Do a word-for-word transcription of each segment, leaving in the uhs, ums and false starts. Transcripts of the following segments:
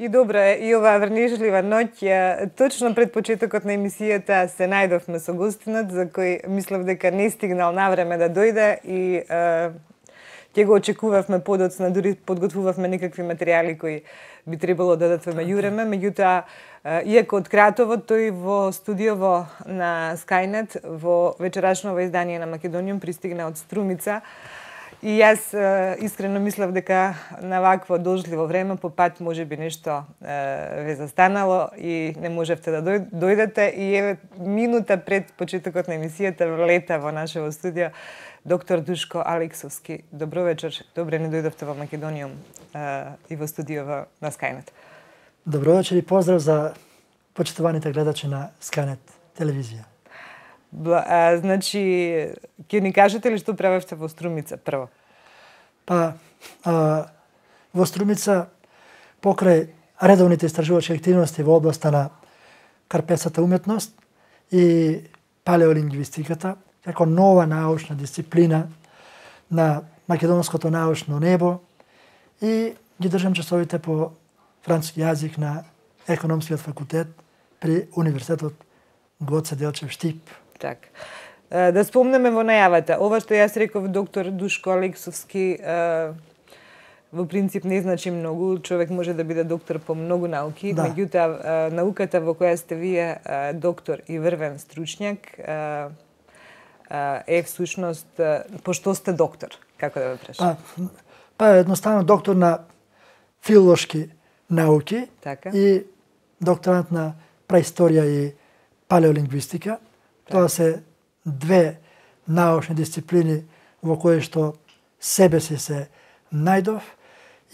И добро е, и оваа врнежлива ноќ, точно пред почетокот на емисијата се најдовме со гостинот, за кој мислев дека не стигнал на време да дојде и е, ќе го очекувавме подоцна, дури подготвувавме некакви материјали кои би требало да дадатвеме јуреме, меѓутоа, иако од Кратово, тој во студиово на Скајнет, во вечерашново издание на Македониум пристигна од Струмица. И јас е, искрено мислев дека на вакво должливо време по пат може би нешто е, ве застанало и не можевте да дојдете. И еве минута пред почетокот на емисијата влета во нашево студио доктор Душко Алексовски. Добро вечер, добре не дојдовте во Македониум е, и во студио на Скајнет. Добро вечер и поздрав за почитуваните гледачи на Скајнет телевизија. А, значи, ќе ни кажете ли што правевте во Струмица прво? Па, а, во Струмица, покрај редовните истражувачки активности во областа на карпесата уметност и палеолингвистиката, како нова научна дисциплина на македонското научно небо, и ги држам часовите по француски јазик на економскиот факултет при Универзитетот Гоце Делчев Штип. Так. Да спомнеме во најавата, ова што јас реков доктор Душко Алексовски во принцип не значи многу, човек може да биде доктор по многу науки, да. Меѓутоа науката во која сте вие доктор и врвен стручњак е всушност по што сте доктор, како да ве прашам? Па, па едноставно доктор на филолошки науки, така. И докторант на праисторија и палеолингвистика. Тоа се две научни дисциплини во кои што себе си се најдов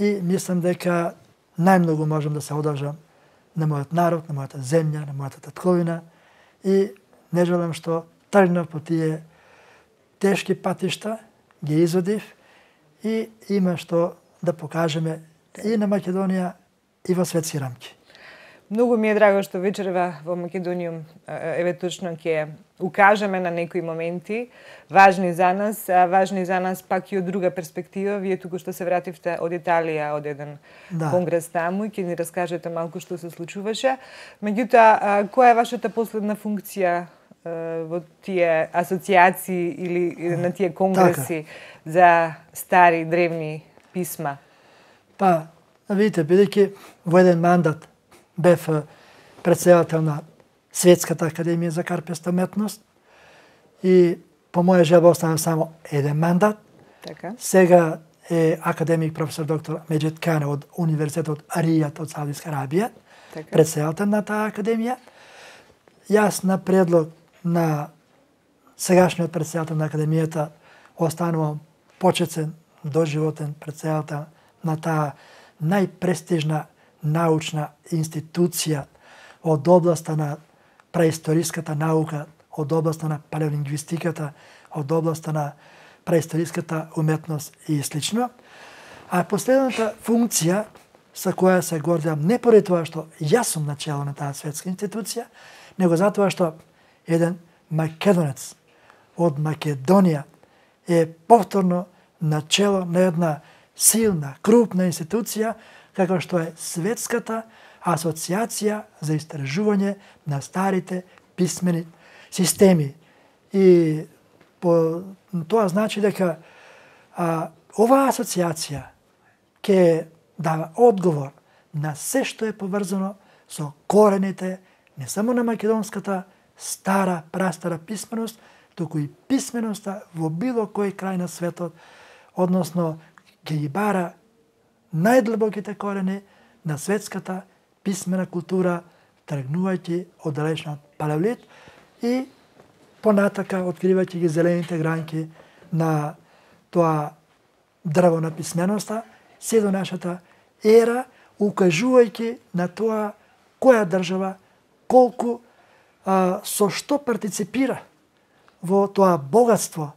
и мислам дека најмногу можам да се одржам на мојот народ, на мојата земја, на мојата татковина и не желам што тргнав по тие тешки патишта, ги изводив и има што да покажеме и на Македонија и во светски рамки. Многу ми е драго што вечерва во Македониум еве точно ќе укажеме на некои моменти важни за нас, важни за нас пак и од друга перспектива. Вие туку што се вративте од Италија, од еден да. конгрес таму и ќе ни раскажете малку што се случуваше. Меѓутоа, која е вашата последна функција во тие асоциации или на тие конгреси така. За стари, древни писма? Па, видите, бидејќи во еден мандат бев председател на Светската академија за карпеста уметност и по моја желба останав само еден мандат. Така. Сега е академик професор доктор Меджид Кане од Универзитетот Аријат од Саудиска Арабија, така. Председател на таа академија. Јас на предлог на сегашниот председател на академијата останувам почетен доживотен председател на таа најпрестижна научна институција од областа на праисториската наука, од областа на палеолингвистиката, од областа на праисториската уметност и слично. А последната функција со која се гордам не поради тоа што јас сум начело на таа светска институција, него затоа што еден македонец од Македонија е повторно начело на една силна, крупна институција, како што е Светската асоциација за истражување на старите писмени системи. И по, тоа значи дека а, оваа асоциација ќе дава одговор на се што е поврзано со корените не само на македонската стара, прастара писменост, туку и писменоста во било кој крај на светот, односно ќе ги бара најдлабоките корени на светската писмена култура, тргнувајќи од далечниот палеолит и понатака откривајќи ги зелените гранки на тоа дрво на писменоста, се до нашата ера, укажувајќи на тоа која држава, колку, а, со што партиципира во тоа богатство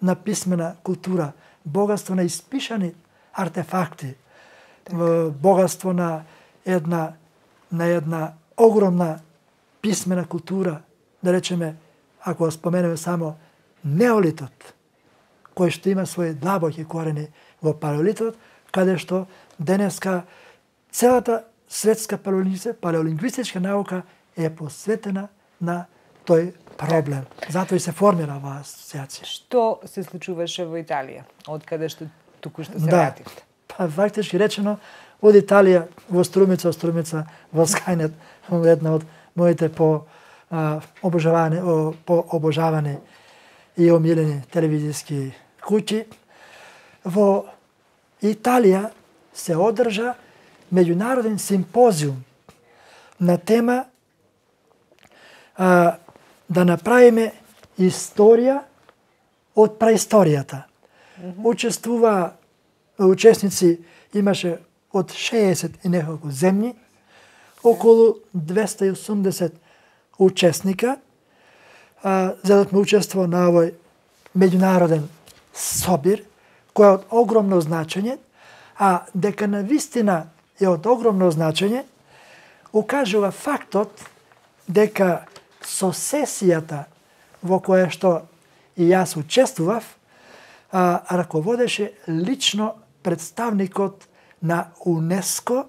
на писмена култура, богатство на испишани артефакти, така. Богатство на една на една огромна писмена култура, да речеме, ако споменеме само неолитот, кој што има своји длабоки корени во палеолитот, каде што денеска целата светска палеолингвистичка наука е посветена на тој проблем. Затоа и се формира оваа асоциација. Што се случуваше во Италија, од каде што току-што се да. вративте? Па, фактички речено, од Италија во Струмица, Струмица во Скајнет, една од моите по а, обожаване, о, по обожавани и омилени телевизиски куќи. Во Италија се одржа меѓународен симпозиум на тема а, да направиме историја од праисторијата. Mm-hmm. Учествува учесници, имаше од шеесет и неколку земји, околу двеста и осумдесет учесника, а, зедовме учество на овој меѓународен собир, кој е од огромно значење, а дека на вистина е од огромно значење, укажува фактот дека со сесијата во која што и јас учествував, а, раководеше лично представникот на УНЕСКО,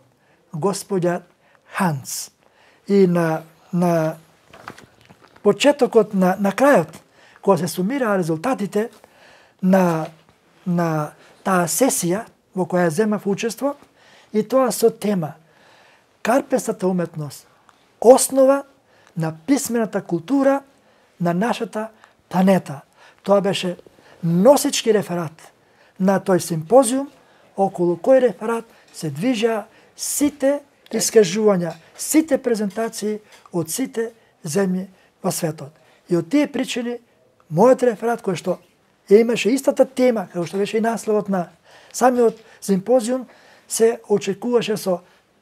господја Ханс. И на, на почетокот, на, на крајот, кога се сумираа резултатите на, на таа сесија во која земав учество, и тоа со тема Карпестата уметност, основа на писмената култура на нашата планета. Тоа беше носички реферат на тој симпозиум, околу кој реферат се движаа сите искажувања, сите презентации од сите земји во светот. И од тие причини, мојот реферат, кој што имаше истата тема, како што беше и насловот на самиот симпозиум, се очекуваше со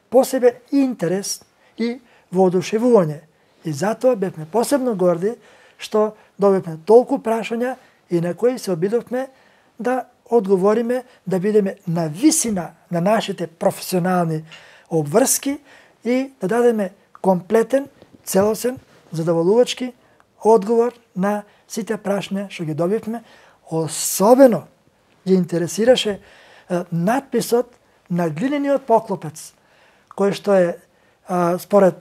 посебен интерес и воодушевување. И затоа бевме посебно горди што добивме толку прашања и на кои се обидовме да одговориме, да бидеме на висина на нашите професионални обврски и да дадеме комплетен, целосен, задоволувачки одговор на сите прашања што ги добивме. Особено ги интересираше е, надписот на глинениот поклопец, кој што е а, според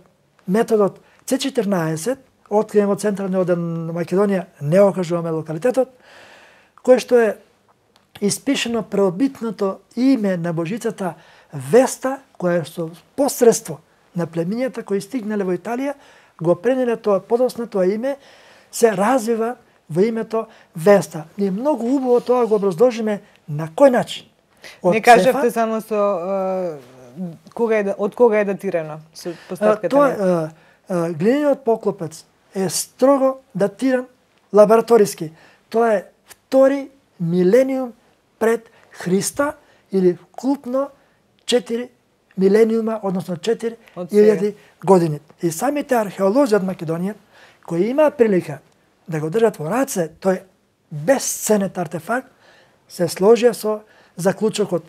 методот Це четрнаесет, откриен во централниот дел на Македонија, не окажуваме локалитетот, кој што е испишено преобитното име на божицата Веста, која со посредство на племињата кои стигнале во Италија, го пренеле тоа подоцна тоа име, се развива во името Веста. Ние многу убаво тоа го образложиме на кој начин. Од не кажавте само со uh, кога е, од кога е датирано со поставката? Тоа uh, uh, глинениот поклопец е строго датиран лабораториски. Тоа е втори милениум пред Христа или вклупно четири милениума, односно четири илјади години. И самите археолози од Македонија, кои имаат прилика да го држат во раце тој безценет артефакт, се сложија со заклучокот.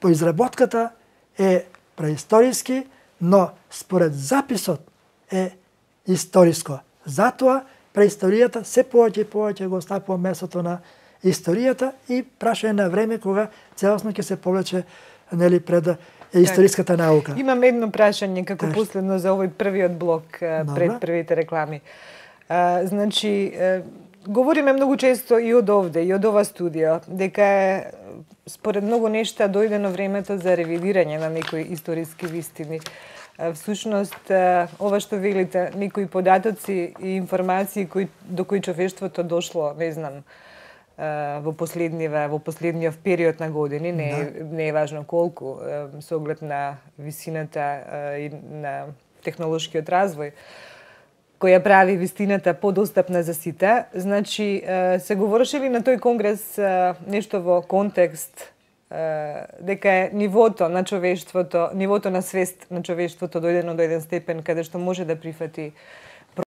По изработката е преисториски, но според записот е историско. Затоа преисторијата се повеќе и повеќе го стапува местото на историјата и прашање на време кога целосно ќе се повлече нели пред историската наука. Имам едно прашање како Теш. последно за овој првиот блок пред Добре. првите реклами. А, значи, говориме многу често и од овде, и од ова студио, дека е според многу нешта дојдено времето за ревидирање на некои историски вистини. Всушност, ова што велите, некои податоци и информации кои, до кои човештвото дошло, не знам, во последниве, во последниот период на години, не, да. не е важно колку, со оглед на висината и на технолошкиот развој, која прави вистината подостапна за сите. Значи, се говореше ли на тој конгрес нешто во контекст дека е нивото на човештвото, нивото на свест на човештвото дојдено до еден степен каде што може да прифати